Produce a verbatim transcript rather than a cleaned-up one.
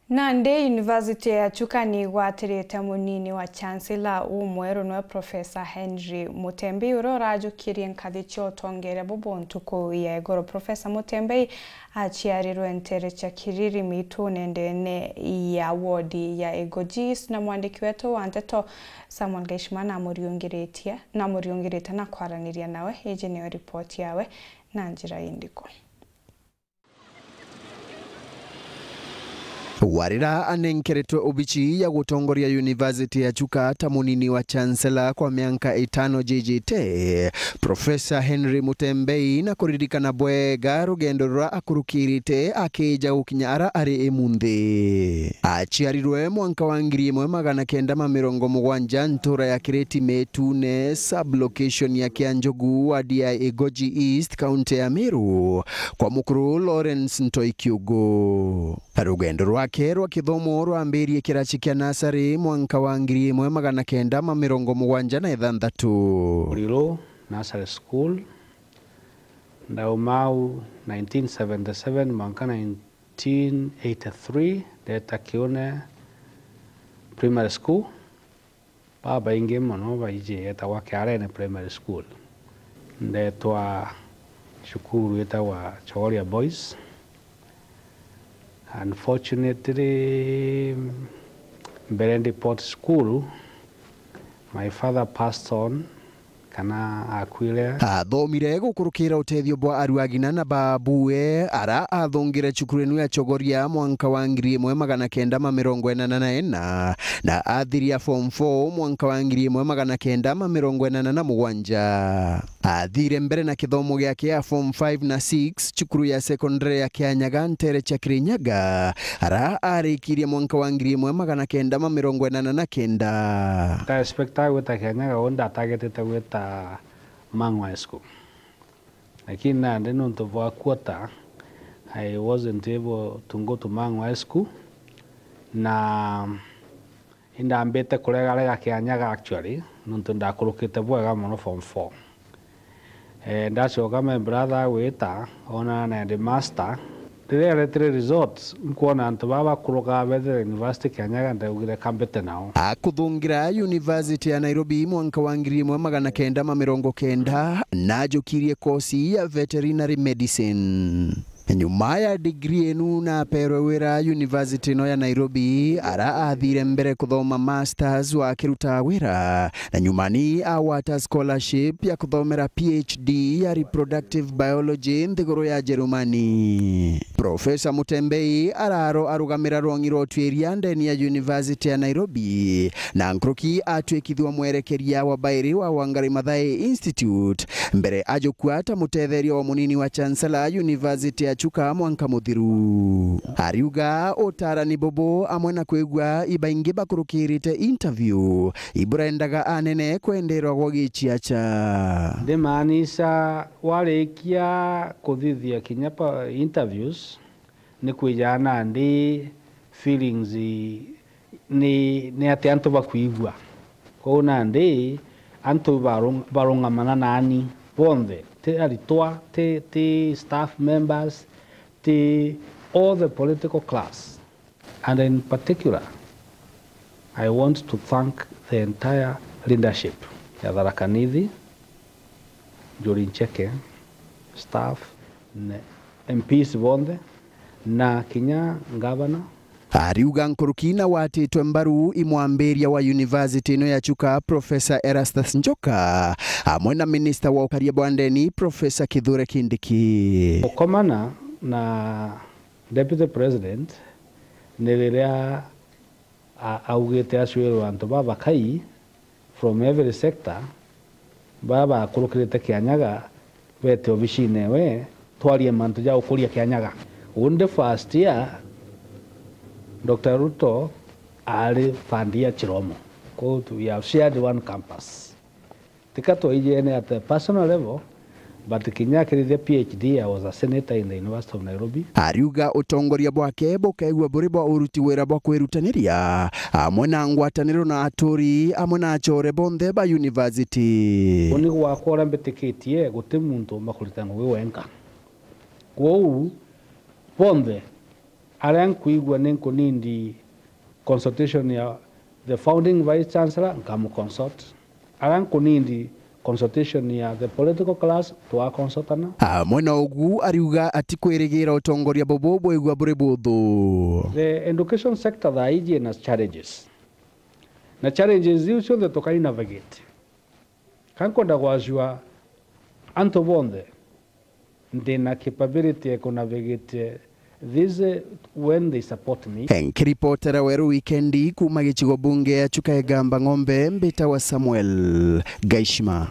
Nandi University ya Chuka ni igwatirite munini wa Chancellor umweru, niwe Professor Henry Mutembi, uria urajukirie nkathi cia utongeria bubu ntuku ya iguru. Professor Mutembi aciarirwe ntere cia Kiriri Mitune ndene ya wodi ya Igoji East, na mwandiki wetu wa nteto Samuel Gaishima namuriungiritie, namuriungirite na kwaraniria nawe. Iji niyo ripoti yawe na njira indiku. Warira anenkeretwe obici ya gutongoria University ya Chuka ta munini wa Chancellor kwa mianka itano jijite, Professor Henry Mutembei, na kuririkana bwega rugendo ruria akurukirite akija gukinya ara ari imunthi. Aciarirwe mwanka wa ngiri imwe magana kenda ma mirongo mugwanja ntura ya Kireti Metune, sub-location ya Kianjogu, ward ya Igoji East, kaunti ya Meru, kwa mukuru Lawrence Ntoi Kiugu. Rugendo rwake rwa kithomo rwambirie kiraci kia nasari mwanka wa ngiri imwe magana kenda ma mirongo mugwanja na ithanthatu. Muriro Nursery School, ndauma au nineteen seventy-seven mwanka nineteen eighty-three, ndeta Kiune Primary School. Babaingi mono baiji yetagwa Kiarene Primary School. Ndetwa cukuru yetagwa Chogoria Boys. Unfortunately, mbere ndi Port School, my father passed on, kana akwire. Athomire gukurukira utethio bwa aru a ng'ina na baabue, ara athongire cukuru inu ya Chogoria mwanka wa ngiri imwe magana kenda ma mirongo inana na ina, na athiria form four mwanka wa ngiri imwe magana kenda ma mirongo inana na mugwanja. Athire mbere na kithomo giake ya form five na six cukuru ya secondary ya Kianyaga ntere cia Kirinyaga, ara arikirie mwanka wa ngiri imwe magana kenda ma mirongo inana na kenda. Nda expecta gwita Kianyaga, uu ndatargetite gwita Mang'u High School. Lakini nandi nontu bwa quarter, I wasn't able to go to Mang'u High School. Na indambite kuregarega Kianyaga actually, nontu ndakurukite bwega mono form four. Eh, ndacoka my brother agwita, onana na headmaster. Riria aretire results, nkwona antu baa bakurukaga bethire university Kianyaga, ndaugire kambite nao. Akuthungira University ya Nairobi mwanka wa ngiri imwe magana kenda ma mirongo kenda, najukirie kosi ya veterinary medicine. Nyuma ya degree inu naperwe wira university ino ya Nairobi, ara athire mbere kuthoma masters wa kirutaga wira, na nyuma ni agwata scholarship ya kuthomera P H D ya reproductive biology nthiguru ya Jerumani. Professor Mutembei araro arugamira rwongi rwa utuiria ndeni ya University ya Nairobi, na nkuruki atwikithua mwerekeria wa bairi wa Wangari Maathai Institute, mbere ajukua ta mutetheria wa munini wa Chancellor University ya Chuka mwanka muthiru. Ariuga utarani bubu amwe na kwigua ibaingi bakurukirite interview, iburendaga anene kwenderwa gwa giciaca. Ndimaanisha, warikia kuthithia kinya pa interviews, ni kwijaa nandi feelings ni, ni ati antu bakwigua. Kwou nandi antu barung-, barungamana nani bonthe, ti aritwa, ti, ti staff members, ti all the political class. And in particular, I want to thank the entire leadership ya Tharaka Nithi, Njuri Ncheke, staff, ne M Ps bonthe, na kinya governor. Ariuga nkuruki na watitwe mbaru i mwambiria wa university ino ya Chuka, Professor Erastus Njoka, amwe na minister wa ukaria bwa ndeni, Professor Kithure Kindiki. Gukomana na Deputy President ni riria a-, augite acwirwe antu babakai from every sector, baa bakurukirite Kianyaga, bete obicine ewe, twarie mantu ja gukuria Kianyaga. Undi first year, Doctor Ruto ari fund year Chiromo. Kwou we have shared one campus. Tika twaijene at a personal level, but kinya akirithia P H D, I was a senator in the University of Nairobi. Ariuga utongoria bwake bukaigua buri bwa uruti wira bwa kwirutaniria, amwe na ngwataniro na aturi, amwe na acore bonthe ba university. Uni gwakwa uria mbitikitie, guti muntu umba kurita ngugi wenka. Kwou, bonthe Aria nkwigua ni nkunindi consultation ya the founding vice chancellor, nkamconsult. Aria nkunindi consultation ya the political class, twaconsultana. Amwe na ugu, ariuga atikwirigira utongoria bubu bwigua buri buthu. The education sector thaa iji ina challenges. Na challenges iu cionthe tukai navigate. Ka nkwenda gwacua antu bonthe ndina capability ya ku navigate this when they support me. Nkiripotera Weru Wikendi kuuma gicigo bunge ya Chuka Igamba Ng'ombe, mbitawa Samuel Gaishima.